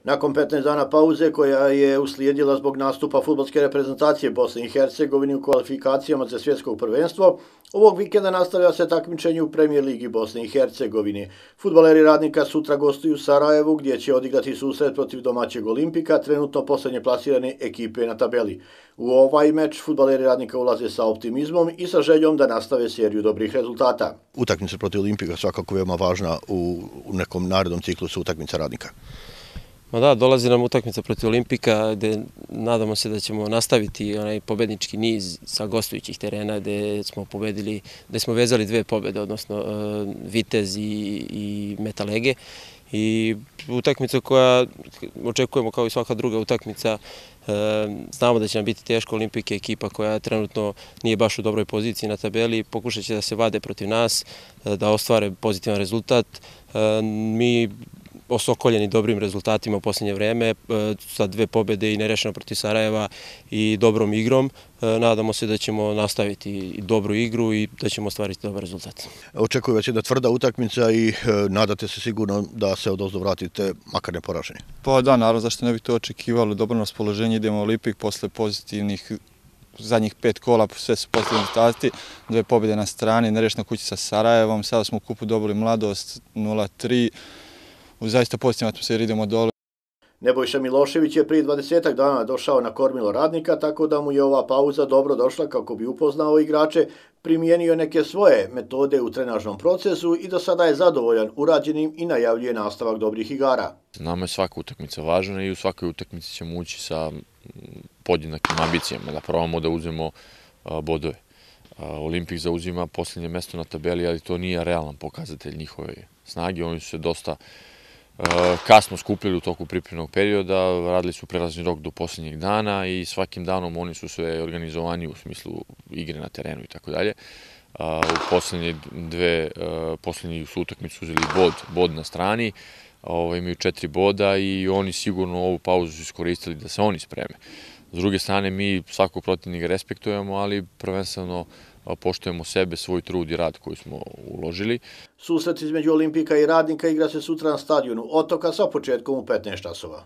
Nakon 15 dana pauze koja je uslijedila zbog nastupa fudbalske reprezentacije Bosne i Hercegovine u kvalifikacijama za svjetsko prvenstvo, ovog vikenda nastavlja se takmičenje u Premijer ligi Bosne i Hercegovine. Fudbaleri Radnika sutra gostuju u Sarajevu gdje će odigrati susret protiv domaćeg Olimpika, trenutno posljednje plasirane ekipe na tabeli. U ovaj meč fudbaleri Radnika ulaze sa optimizmom i sa željom da nastave seriju dobrih rezultata. Utakmica protiv Olimpika svakako veoma važna u nekom narednom ciklusu utakmica Radnika. Ma da, dolazi nam utakmica protiv Olimpika gdje nadamo se da ćemo nastaviti onaj pobednički niz sa gostujućih terena gdje smo pobedili, gdje smo vezali 2 pobjede, odnosno Vitez i Metalege. I utakmica koja očekujemo kao i svaka druga utakmica, znamo da će nam biti teško. Olimpik je ekipa koja trenutno nije baš u dobroj poziciji na tabeli, pokušat će da se vade protiv nas, da ostvare pozitivan rezultat. Mi osokoljeni dobrim rezultatima u posljednje vreme, sa 2 pobjede i nerešeno protiv Sarajeva i dobrom igrom. Nadamo se da ćemo nastaviti dobru igru i da ćemo ostvariti dobar rezultat. Očekuje vas jedna tvrda utakmica i nadate se sigurno da se odozdo vratite makar neporaženi. Pa da, naravno, zašto ne bi to očekivali. Dobro raspoloženje, idemo u Olimpik posle pozitivnih zadnjih 5 kola, sve su pozitivni rezultati, 2 pobjede na strani, nerešeno kući sa Sarajevom, sada smo u kupu dobili Mladost 0-3. U zaista pozitivnoj atmosferi idemo dole. Nebojša Milošević je prije 20 dana došao na kormilo Radnika, tako da mu je ova pauza dobro došla kako bi upoznao igrače, primijenio neke svoje metode u trenažnom procesu i do sada je zadovoljan urađenim i najavljuje nastavak dobrih igara. Nama je svaka utakmica važna i u svakoj utakmici ćemo ući sa podjednakim ambicijama, da probamo da uzmemo bodove. Olimpik zauzima posljednje mjesto na tabeli, ali to nije realan pokazatelj njihove snage. Oni su se dosta kasno skupljali u toku pripremnog perioda, radili su prelazni rok do posljednjeg dana i svakim danom oni su sve organizovani u smislu igre na terenu i tako dalje. U posljednji su utakmicu uzeli bod na strani, imaju 4 boda i oni sigurno ovu pauzu su iskoristili da se oni spreme. S druge strane, mi svakog protivnika respektujemo, ali prvenstveno poštujemo sebe, svoj trud i rad koji smo uložili. Susret između Olimpika i Radnika igra se sutra na stadionu Otoka sa početkom u 15 časova.